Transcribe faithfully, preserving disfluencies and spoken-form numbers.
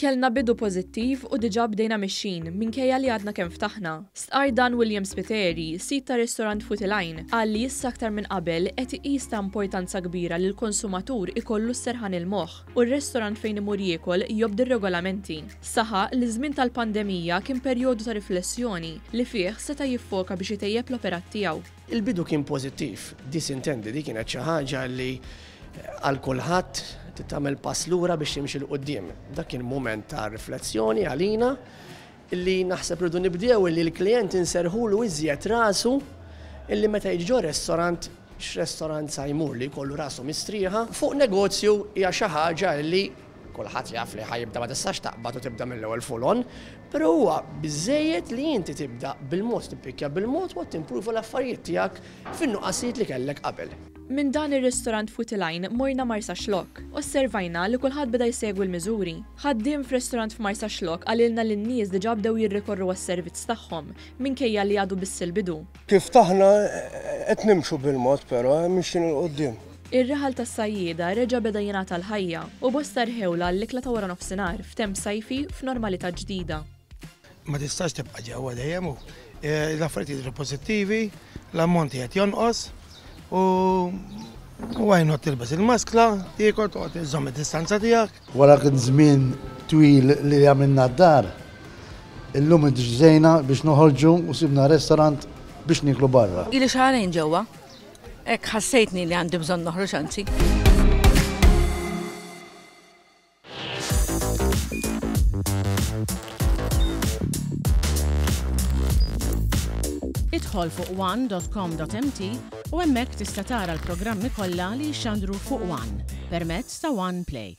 Kellna bidu pożittiv u diġà bdejna mixjin minkejja li għadna kemm ftaħna. Stqar dan William Spiteri, sid ta' restorant Futilajn, qal li issa aktar minn qabel qed iqis ta' importanza kbira li l-konsumatur ikollu s-serħan il-moħħ u r-restorant fejn imur jiekol jobdi r-regolamenti. Saħaq li żmien tal-pandemija kien perjodu ta' riflessjoni li fih seta' jiffoka biex itejjeb l-operat tiegħu. Il-bidu kien pożittiv, disintendi, di kienet xi ħaġa li għal kulħadd tagħmel pass lura biex timxi 'l quddiem. Dak kien mument ta' riflessjoni għalina illi naħseb rridu nibdew illi l-klient inserħulu iżjed rasu illi meta jiġi ġo restorant, x'restorant sa jmur, li jkollu rasu mistrieħa. Fuq negozju hija xi ħaġa li kulħadd jaf li ħa jibda, ma tistax taqbad u tibda mill-ewwel full on, però huwa biżejjed li inti tibda bil-mod, tippikja bil-mod u timpruva l-affarijiet tiegħek fin-nuqqasijiet li kellek qabel. Minn dan ir-restorant Futilajn morna Marsaxlokk. Osservajna li kulħadd beda jsegwi l-miżuri. Ħaddiem f'restorant f'Marsaxlokk qalilna li n-nies diġà bdew jirrikorru għas-servizz tagħhom minkejja li għadu biss il-bidu. Kif ftaħna qed nimxu bil-mod, però mixin 'il quddiem. Ir-raħal tas-sajjieda reġa' beda jingħata l-ħajja u bosta rħewla l-ikla ta' wara nofsinhar f'temp sajfi f'normalità ġdida. Ma tistax tibqa' ġewwa dejjem u eh, l-affarijiet jidhru pożittivi, l-ammonti qed jonqos u why not tilbes il-maskla, tiekol, toqgħod iżżomm id-distanza tiegħek. Wara kien żmien twil li għamilna d-dar, illum iddeċidejna biex noħorġu u sibna restorant biex niklu barra. Ili xahrejn ġewwa. Hekk ħassejtni li għandi bżonn noħroġ anzi. Idħol fuq one dot com dot M T u hemmhekk tista' tara l-programmi kollha li jxandru fuq One permezz ta' One Play.